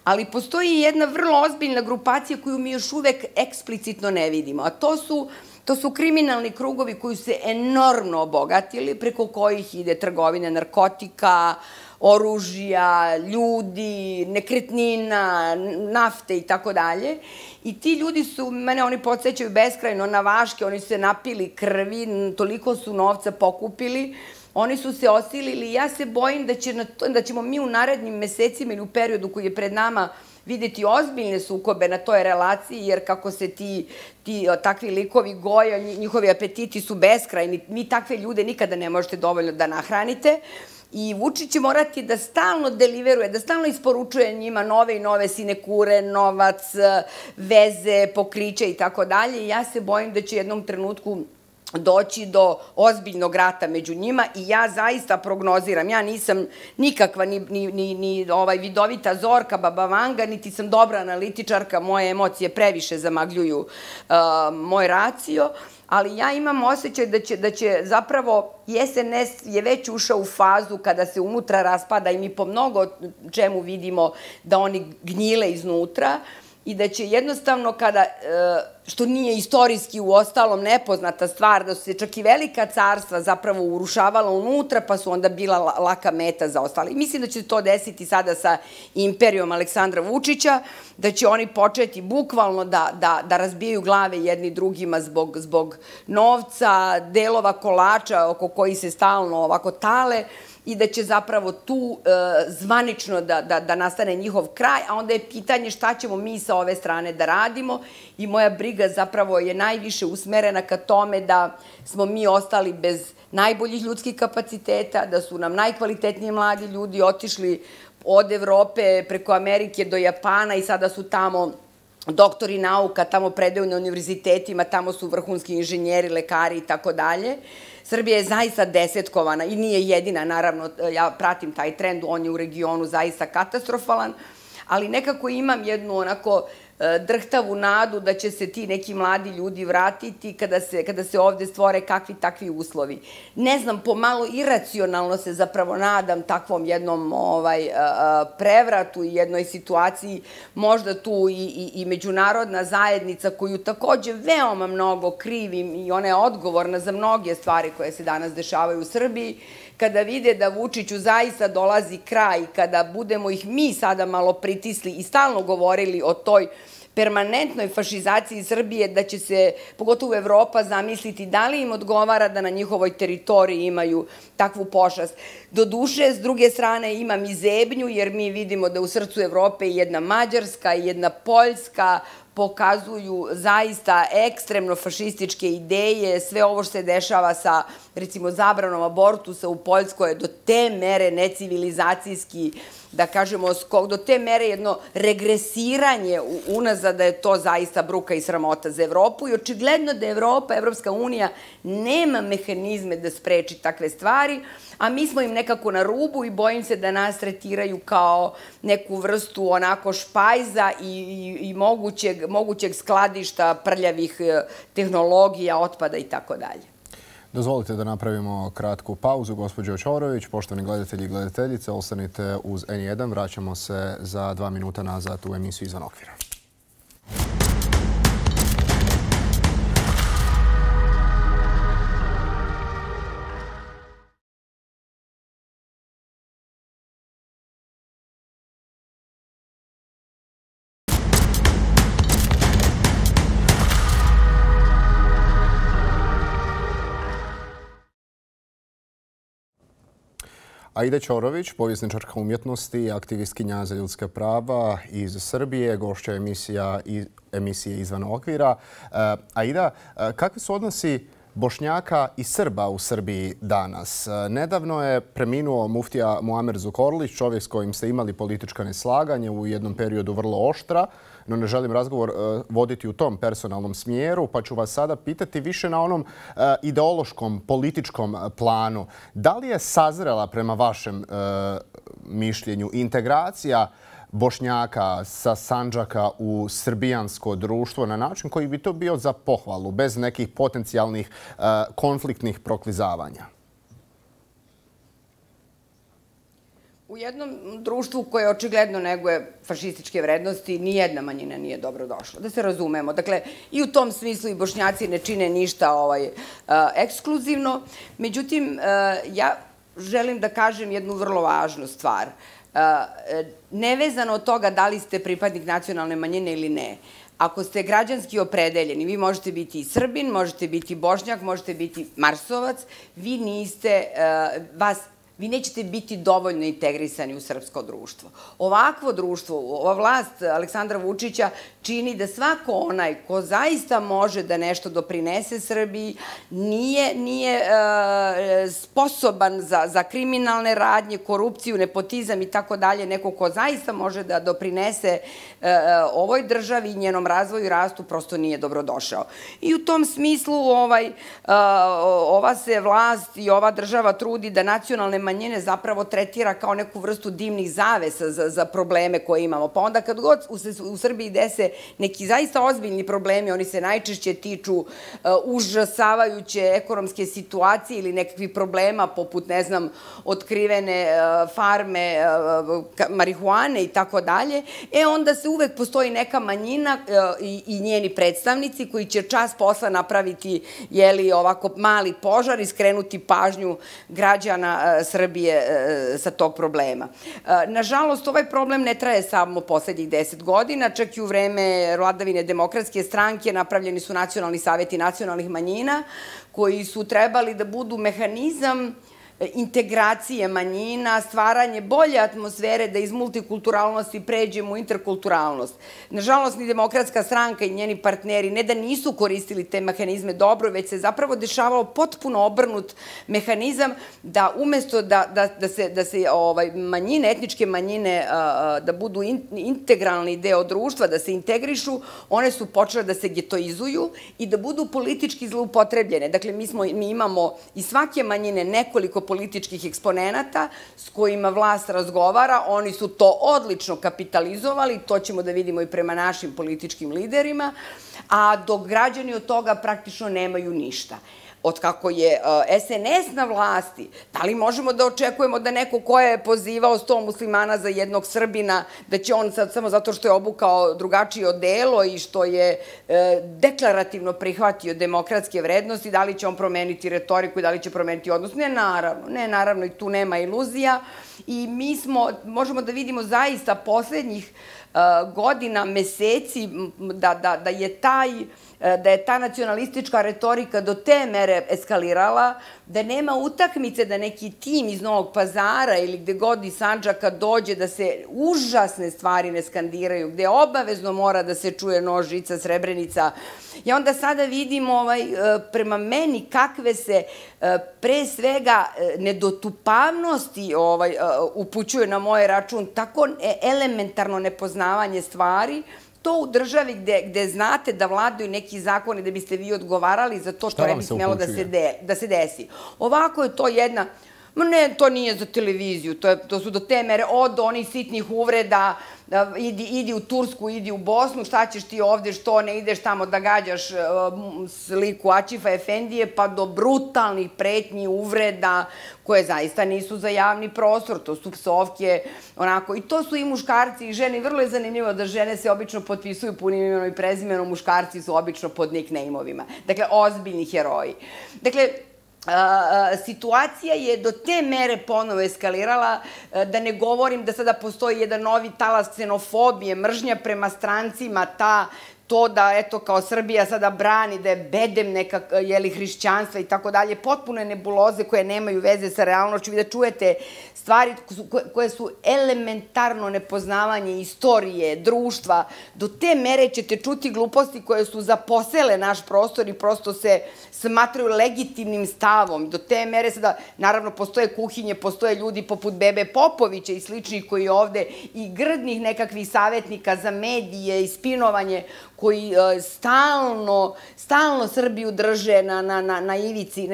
Ali postoji jedna vrlo ozbiljna grupacija koju mi još uvek eksplicitno ne vidimo, a to su To su kriminalni krugovi koji su se enormno obogatili, preko kojih ide trgovina narkotika, oružja, ljudi, nekretnina, nafte i tako dalje. I ti ljudi su, mene oni podsjećaju beskrajno na Vaške, oni su se napili krvi, toliko su novca pokupili, oni su se osilili i ja se bojim da, će na to, da ćemo mi u narednim mesecima ili u periodu koji je pred nama videti ozbiljne sukobe na toj relaciji, jer kako se ti, ti takvi likovi goje, njihovi apetiti su beskrajni, mi takve ljude nikada ne možete dovoljno da nahranite. I Vučić će morati da stalno deliveruje, da stalno isporučuje njima nove i nove sinekure, novac, veze, pokriće i tako dalje. Ja se bojim da će u jednom trenutku doći do ozbiljnog rata među njima i ja zaista prognoziram, ja nisam nikakva ni, ni, ni, ni ovaj vidovita Zorka, Baba Vanga, niti sam dobra analitičarka, moje emocije previše zamagljuju uh, moj racio, ali ja imam osjećaj da će, da će zapravo S N S je već ušao u fazu kada se unutra raspada i mi po mnogo čemu vidimo da oni gnjile iznutra, i da će jednostavno kada, što nije istorijski u ostalom nepoznata stvar, da su se čak i velika carstva zapravo urušavala unutra, pa su onda bila laka meta za ostali. Mislim da će to desiti sada sa imperijom Aleksandra Vučića, da će oni početi bukvalno da razbijaju glave jedni drugima zbog novca, delova kolača oko koji se stalno ovako tale, i da će zapravo tu zvanično da nastane njihov kraj, a onda je pitanje šta ćemo mi sa ove strane da radimo i moja briga zapravo je najviše usmerena ka tome da smo mi ostali bez najboljih ljudskih kapaciteta, da su nam najkvalitetniji mladi ljudi otišli od Evrope preko Amerike do Japana i sada su tamo doktori nauka, tamo predaju na univerzitetima, tamo su vrhunski inženjeri, lekari i tako dalje. Srbija je zaista desetkovana i nije jedina, naravno, ja pratim taj trend, on je u regionu zaista katastrofalan, ali nekako imam jednu onako drhtavu nadu da će se ti neki mladi ljudi vratiti kada se ovde stvore kakvi takvi uslovi. Ne znam, pomalo iracionalno se zapravo nadam takvom jednom prevratu i jednoj situaciji, možda tu i međunarodna zajednica koju takođe veoma mnogo krivim i ona je odgovorna za mnoge stvari koje se danas dešavaju u Srbiji, kada vide da Vučiću zaista dolazi kraj, kada budemo ih mi sada malo pritisli i stalno govorili o toj permanentnoj fašizaciji Srbije, da će se, pogotovo Evropa, zamisliti da li im odgovara da na njihovoj teritoriji imaju takvu pošast. Doduše, s druge strane, imam i zebnju, jer mi vidimo da u srcu Evrope i jedna Mađarska i jedna Poljska pokazuju zaista ekstremno fašističke ideje. Sve ovo što se dešava sa, recimo, zabranom abortusa u Poljskoj je do te mere necivilizacijski, da kažemo, do te mere jedno regresiranje unazad, da je to zaista bruka i sramota za Evropu i očigledno da Evropa, Evropska unija, nema mehanizme da spreči takve stvari, a mi smo im nekako na rubu i bojim se da nas tretiraju kao neku vrstu onako špajza i mogućeg skladišta prljavih tehnologija, otpada i tako dalje. Dozvolite da napravimo kratku pauzu, gospođo Ćorović. Poštovani gledatelji i gledateljice, ostanite uz en jedan. Vraćamo se za dva minuta nazad u emisiju Izvan okvira. Aida Ćorović, povjesničarka umjetnosti i aktivistkinja za ljudska prava iz Srbije, gošća emisije Izvan okvira. Aida, kakvi su odnosi Bošnjaka i Srba u Srbiji danas? Nedavno je preminuo muftija Muamer Zukorlić, čovjek s kojim ste imali politička neslaganja, u jednom periodu vrlo oštra, no ne želim razgovor voditi u tom personalnom smjeru, pa ću vas sada pitati više na onom ideološkom, političkom planu. Da li je sazrela prema vašem mišljenju integracija Bošnjaka sa Sandžaka u srbijansko društvo na način koji bi to bio za pohvalu, bez nekih potencijalnih konfliktnih proklizavanja? U jednom društvu koje očigledno neguje fašističke vrednosti, nijedna manjina nije dobro došla. Da se razumemo. Dakle, i u tom smislu i Bošnjaci ne čine ništa ekskluzivno. Međutim, ja želim da kažem jednu vrlo važnu stvar. Nevezano od toga da li ste pripadnik nacionalne manjine ili ne, ako ste građanski opredeljeni, vi možete biti i Srbin, možete biti Bošnjak, možete biti Marsovac, vi niste, vas vi nećete biti dovoljno integrisani u srpsko društvo. Ovakvo društvo, ova vlast Aleksandra Vučića čini da svako onaj ko zaista može da nešto doprinese Srbiji nije sposoban za kriminalne radnje, korupciju, nepotizam i tako dalje, neko ko zaista može da doprinese ovoj državi i njenom razvoju i rastu, prosto nije dobrodošao. I u tom smislu ova se vlast i ova država trudi da nacionalne manjine manjine zapravo tretira kao neku vrstu dimnih zavesa za probleme koje imamo. Pa onda kad god u Srbiji dese neki zaista ozbiljni problemi, oni se najčešće tiču užasavajuće ekonomske situacije ili nekakvih problema poput, ne znam, otkrivene farme marihuane i tako dalje, e onda se uvek postoji neka manjina i njeni predstavnici koji će čas posla napraviti, jeli, ovako mali požar i skrenuti pažnju građana Srbije sa tog problema. Nažalost, ovaj problem ne traje samo poslednjih deset godina, čak i u vreme vladavine Demokratske stranke napravljeni su nacionalni saveti nacionalnih manjina koji su trebali da budu mehanizam integracije manjina, stvaranje bolje atmosfere da iz multikulturalnosti pređemo u interkulturalnost. Nažalost, ni Demokratska stranka i njeni partneri ne da nisu koristili te mehanizme dobro, već se zapravo dešavao potpuno obrnut mehanizam da umesto da se manjine, etničke manjine, da budu integralni deo društva, da se integrišu, one su počele da se getoizuju i da budu politički zloupotrebljene. Dakle, mi imamo iz svake manjine nekoliko političkih eksponenata s kojima vlast razgovara, oni su to odlično kapitalizovali, to ćemo da vidimo i prema našim političkim liderima, a dok građani od toga praktično nemaju ništa. Od kako je es en es na vlasti, da li možemo da očekujemo da neko ko je pozivao sto muslimana za jednog Srbina, da će on sad samo zato što je obukao drugačije odelo i što je deklarativno prihvatio demokratske vrednosti, da li će on promeniti retoriku i da li će promeniti odnos? Ne, naravno. Ne, naravno, i tu nema iluzija. I mi smo, možemo da vidimo zaista poslednjih godina, meseci, da je taj da je ta nacionalistička retorika do te mere eskalirala, da nema utakmice da neki tim iz Novog Pazara ili gde god iz Sandžaka dođe da se užasne stvari ne skandiraju, gde obavezno mora da se čuje nož, žica, Srebrenica. I onda sada vidimo prema meni kakve se pre svega nedotupavnosti upućuje na moj račun, tako elementarno nepoznavanje stvari. To u državi gde znate da vladaju neki zakoni da biste vi odgovarali za to, to ne bi smelo da se desi. Ovako je to jedna, ne, to nije za televiziju, to su do te mere od onih sitnih uvreda, idi u Tursku, idi u Bosnu, šta ćeš ti ovde, što ne ideš tamo da gađaš sliku Aćifa Efendije, pa do brutalnih pretnji, uvreda, koje zaista nisu za javni prostor, to su psovke, onako, i to su i muškarci i žene, vrlo je zanimljivo da žene se obično potpisuju punim imenom i prezimenom, muškarci su obično pod nickname-ovima. Dakle, ozbiljni heroji. Dakle, situacija je do te mere ponovo eskalirala, da ne govorim da sada postoji jedan novi talas ksenofobije, mržnja prema strancima, ta to da, eto, kao Srbija sada brani, da je bedem neka, jeli, hrišćanstva i tako dalje, potpune nebuloze koje nemaju veze sa realnošću i da čujete stvari koje su elementarno nepoznavanje istorije, društva. Do te mere ćete čuti gluposti koje su zaposele naš prostor i prosto se smatraju legitimnim stavom. Do te mere sada, naravno, postoje kuhinje, postoje ljudi poput Bebe Popovića i sličnih koji ovde i grdnih nekakvih savjetnika za medije i spinovanje koji stalno, stalno Srbiju drže na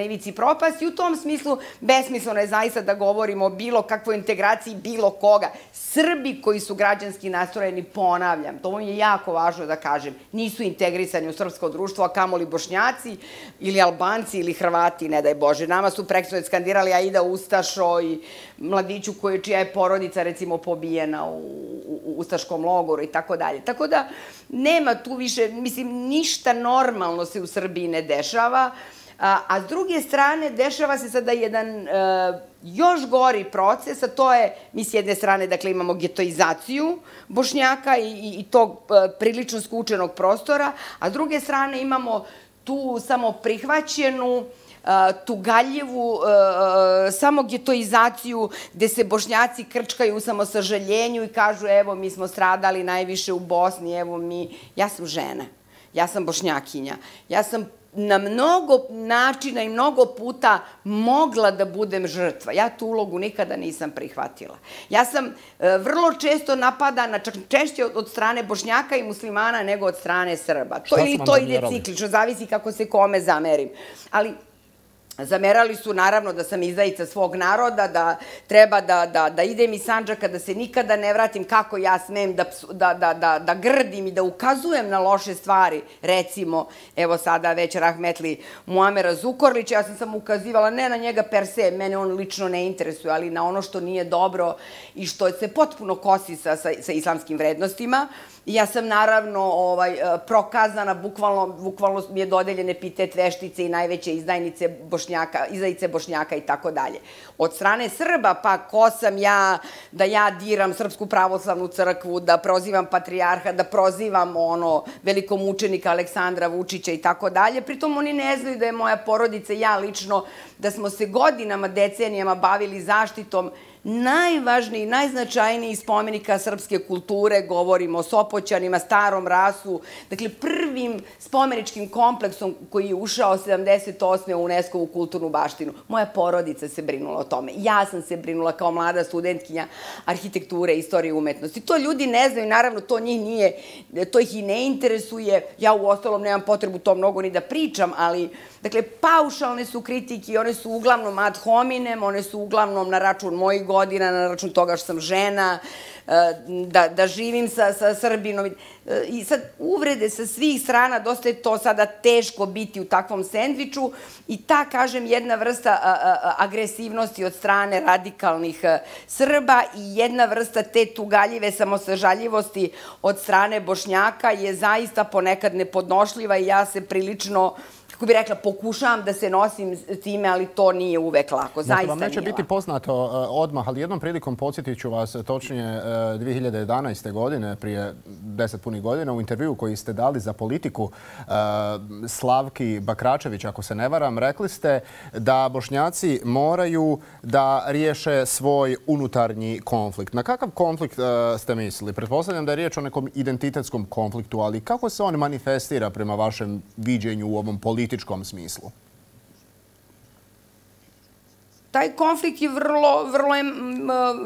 ivici propasti. I u tom smislu besmisleno je zaista da govorimo o bilo kakvoj integraciji bilo koga. Srbi koji su građanski nastrojeni, ponavljam, to je jako važno da kažem, nisu integrisani u srpsko društvo, a kamoli Bošnjaci ili Albanci ili Hrvati, ne daj Bože. Nama su preksinoć skandirali Aida Ustašo i mladiću čija je porodica, recimo, pobijena u ustaškom logoru i tako dalje. Tako da nema tu više, mislim, ništa normalno se u Srbiji ne dešava, a s druge strane dešava se sada jedan još gori proces, a to je, mi s jedne strane, dakle, imamo getoizaciju Bošnjaka i tog prilično skučenog prostora, a s druge strane imamo tu samo prihvaćenu, tugaljivu samogetoizaciju gde se Bošnjaci krčkaju u samosažaljenju i kažu evo mi smo stradali najviše u Bosni, evo mi, ja sam žena, ja sam Bošnjakinja, ja sam na mnogo načina i mnogo puta mogla da budem žrtva. Ja tu ulogu nikada nisam prihvatila. Ja sam vrlo često napadana, čak češće od strane Bošnjaka i muslimana nego od strane Srba. To ili to ide ciklično, zavisi kako se kome zamerim. Ali Zamerali su naravno da sam izdajica svog naroda, da treba da, da, da idem iz Sandžaka, da se nikada ne vratim, kako ja smem da, da, da, da, da grdim i da ukazujem na loše stvari. Recimo, evo sada već rahmetli Muamera Zukorlića, ja sam samo ukazivala ne na njega per se, mene on lično ne interesuje, ali na ono što nije dobro i što se potpuno kosi sa, sa, sa islamskim vrednostima. Ja sam naravno ovaj, prokazana, bukvalno, bukvalno mi je dodeljen epitet veštice i najveće izdajnice Bošnjaka, izdajice Bošnjaka i tako dalje. Od strane Srba, pa ko sam ja da ja diram Srpsku pravoslavnu crkvu, da prozivam patrijarha, da prozivam ono velikomučenika Aleksandra Vučića i tako dalje. Pritom oni ne znaju da je moja porodica i ja lično, da smo se godinama, decenijama bavili zaštitom najvažniji, najznačajniji spomenika srpske kulture, govorimo o Sopoćanima, Starom Rasu, dakle prvim spomeničkim kompleksom koji je ušao sedamdeset osme u UNESCO-vu kulturnu baštinu. Moja porodica se brinula o tome. Ja sam se brinula kao mlada studentkinja arhitekture, istorije i umetnosti. To ljudi ne znaju, naravno to njih nije, to ih i ne interesuje. Ja u ostalom nemam potrebu to mnogo ni da pričam, ali dakle, paušalne su kritike, one su uglavnom ad hominem, one su uglavnom na račun mojih godina, na račun toga što sam žena, da, da živim sa, sa Srbinom. I sad uvrede sa svih strana, dosta je to sada teško biti u takvom sendviču i ta, kažem, jedna vrsta agresivnosti od strane radikalnih Srba i jedna vrsta te tugaljive samosažaljivosti od strane Bošnjaka je zaista ponekad nepodnošljiva i ja se prilično, kako bih rekla, pokušavam da se nosim s time, ali to nije uvek lako. Zaista nije lako. Vam neće biti poznato odmah, ali jednom prilikom podsjetit ću vas, točnije dve hiljade jedanaeste. godine, prije deset punih godina, u intervju koji ste dali za Politiku Slavki Bakračević, ako se ne varam, rekli ste da Bošnjaci moraju da riješe svoj unutarnji konflikt. Na kakav konflikt ste mislili? Pretpostavljam da je riječ o nekom identitetskom konfliktu, ali kako se on manifestira prema vašem viđenju u ovom političkom smislu? Taj konflikt je vrlo, vrlo je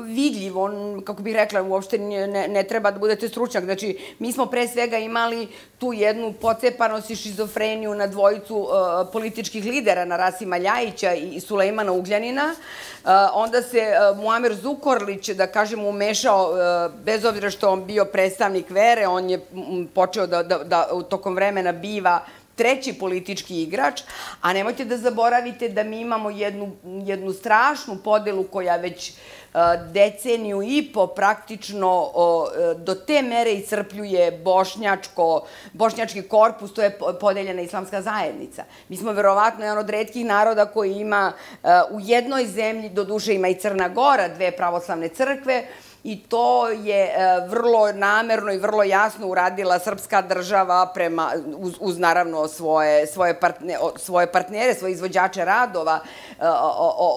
vidljiv. On, kako bih rekla, uopšte ne, ne treba da budete stručnjak. Znači, mi smo pre svega imali tu jednu pocepanost i šizofreniju na dvojicu uh, političkih lidera, na Rasima Ljajića i Sulejmana Ugljanina. Uh, onda se uh, Muamer Zukorlić, da kažem, umešao, uh, bez obzira što on bio predstavnik vere, on je počeo da, da, da tokom vremena biva treći politički igrač, a nemojte da zaboravite da mi imamo jednu, jednu strašnu podelu koja već uh, deceniju i po praktično uh, do te mere iscrpljuje bošnjačko, bošnjački korpus, to je podeljena islamska zajednica. Mi smo verovatno jedan od retkih naroda koji ima uh, u jednoj zemlji, doduše ima i Crna Gora, dve pravoslavne crkve, i to je vrlo namerno i vrlo jasno uradila srpska država prema, uz, uz naravno svoje, svoje, partne, svoje partnere, svoje izvođače radova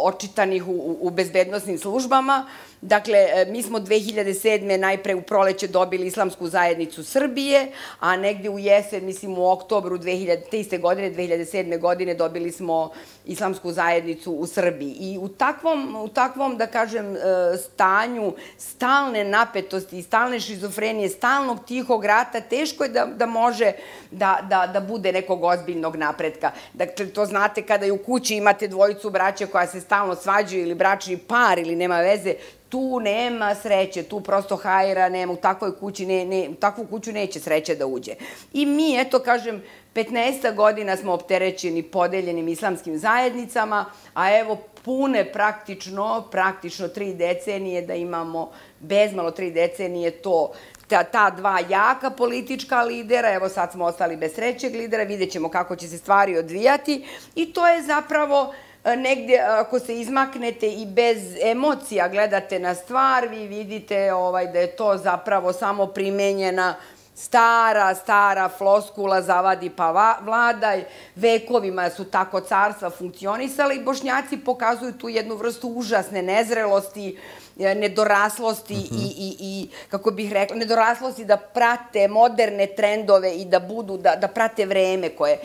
očitanih u, u bezbednosnim službama. Dakle, mi smo dve hiljade sedme. najpre u proleće dobili Islamsku zajednicu Srbije, a negde u jesen, mislim u oktobru dve hiljade te godine, dve hiljade sedme. godine dobili smo Islamsku zajednicu u Srbiji. I u takvom, u takvom, da kažem, stanju stalne napetosti i stalne šizofrenije, stalnog tihog rata, teško je da, da može da, da, da bude nekog ozbiljnog napretka. Dakle, to znate kada i u kući imate dvojicu braća koja se stalno svađaju ili bračni par ili nema veze, tu nema sreće, tu prosto hajra nema, u takvoj kući, ne, ne, u takvu kuću neće sreće da uđe. I mi, eto, kažem, petnaest godina smo opterećeni podeljenim islamskim zajednicama, a evo pune praktično, praktično tri decenije da imamo, bezmalo tri decenije to, ta, ta dva jaka politička lidera, evo sad smo ostali bez trećeg lidera, vidjet ćemo kako će se stvari odvijati i to je zapravo negdje, ako se izmaknete i bez emocija gledate na stvar, vi vidite ovaj, da je to zapravo samo primenjena stara, stara floskula zavadi pa vladaj. Vekovima su tako carstva funkcionisala i Bošnjaci pokazuju tu jednu vrstu užasne nezrelosti, nedoraslosti i, i, i, kako bih rekla, nedoraslosti da prate moderne trendove i da budu, da, da prate vreme koje.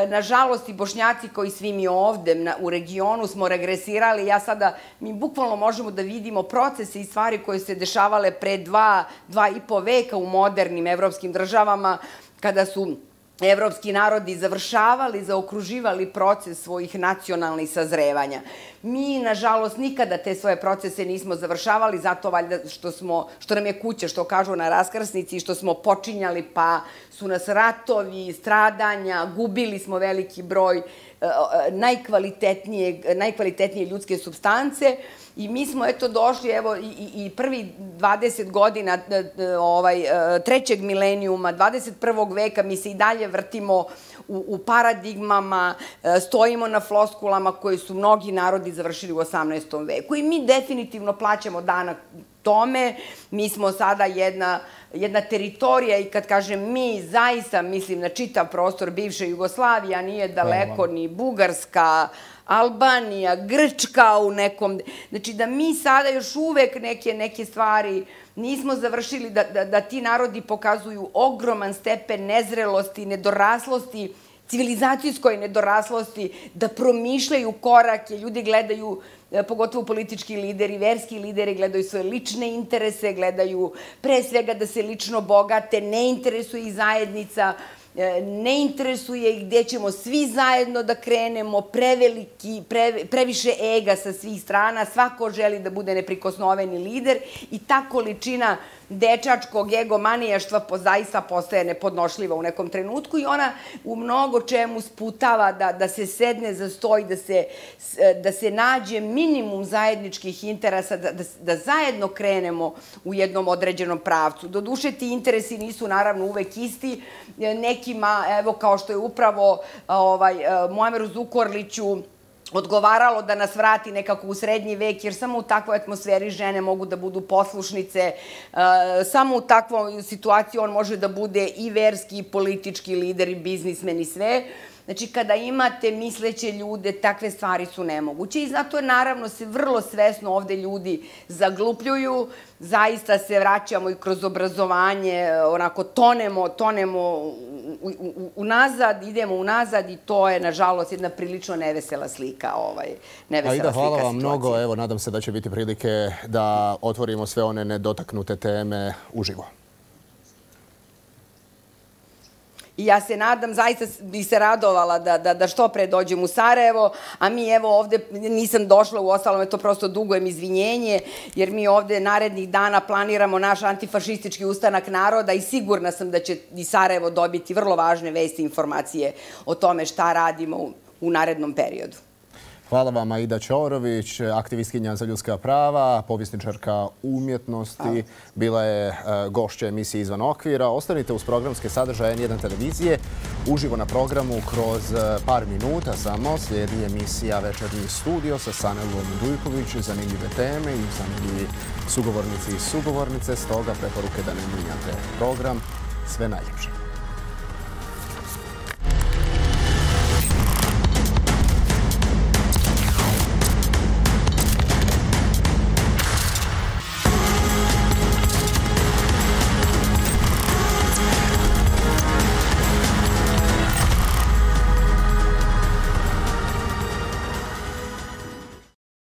Nažalost, i Bošnjaci koji svi mi ovde na, u regionu smo regresirali. Ja sada, mi bukvalno možemo da vidimo procese i stvari koje se dešavale pre dva, dva i po veka u modernim evropskim državama, kada su evropski narodi završavali, zaokruživali proces svojih nacionalnih sazrevanja. Mi, nažalost, nikada te svoje procese nismo završavali, zato valjda što, smo, što nam je kuća, što kažu na raskrsnici, što smo počinjali, pa su nas ratovi, stradanja, gubili smo veliki broj najkvalitetnije, najkvalitetnije ljudske supstance i mi smo eto došli, evo, i, i prvi dvadeset godina ovaj, trećeg milenijuma, dvadeset prvog veka, mi se i dalje vrtimo u, u paradigmama, stojimo na floskulama koje su mnogi narodi završili u osamnaestom veku i mi definitivno plaćamo danak tome. Mi smo sada jedna, jedna teritorija i kad kažem mi, zaista mislim na čitav prostor bivše Jugoslavije, a nije daleko ni Bugarska, Albanija, Grčka u nekom... Znači da mi sada još uvek neke, neke stvari nismo završili, da, da, da ti narodi pokazuju ogroman stepen nezrelosti, nedoraslosti, civilizacijskoj nedoraslosti, da promišljaju korake, ljudi gledaju, pogotovo politički lideri, verski lideri, gledaju svoje lične interese, gledaju pre svega da se lično bogate, ne interesuje ih zajednica, ne interesuje ih gde ćemo svi zajedno da krenemo, preveliki, pre, previše ega sa svih strana, svako želi da bude neprikosnoveni lider i ta količina dečačkog egomanijaštva zaista postaje nepodnošljiva u nekom trenutku i ona u mnogo čemu sputava da, da se sedne za sto i da se, da se nađe minimum zajedničkih interesa, da, da, da zajedno krenemo u jednom određenom pravcu. Doduše, ti interesi nisu naravno uvek isti. Nekima, evo kao što je upravo ovaj, Muameru Zukorliću odgovaralo da nas vrati nekako u srednji vek, jer samo u takvoj atmosferi žene mogu da budu poslušnice, samo u takvoj situaciji on može da bude i verski, i politički lider, i biznismen, i sve. Znači, kada imate misleće ljude, takve stvari su nemoguće i zato naravno se vrlo svesno ovde ljudi zaglupljuju, zaista se vraćamo i kroz obrazovanje, onako tonemo, tonemo unazad, idemo unazad i to je, nažalost, jedna prilično nevesela slika, ovaj, nevesela slika situacije. Hvala vam mnogo, evo, nadam se da će biti prilike da otvorimo sve one nedotaknute teme uživo. I ja se nadam, zaista bi se radovala da, da, da što pre dođem u Sarajevo, a mi evo ovde, nisam došla, u ostalom je to prosto dugujem izvinjenje, jer mi ovde narednih dana planiramo naš antifašistički ustanak naroda i sigurna sam da će i Sarajevo dobiti vrlo važne vesti i informacije o tome šta radimo u, u narednom periodu. Hvala vam, Aida Ćorović, aktivistkinja za ljudska prava, povjesničarka umjetnosti. Bila je gošća emisije Izvan okvira. Ostanite uz programske sadržaje N jedan televizije. Uživo na programu kroz par minuta samo slijedi emisija Večernji studio sa Sanelom Dujković. Zanimljive teme i zanimljivi sugovornici i sugovornice. Stoga preporuke da ne mijenjate program. Sve najljepše.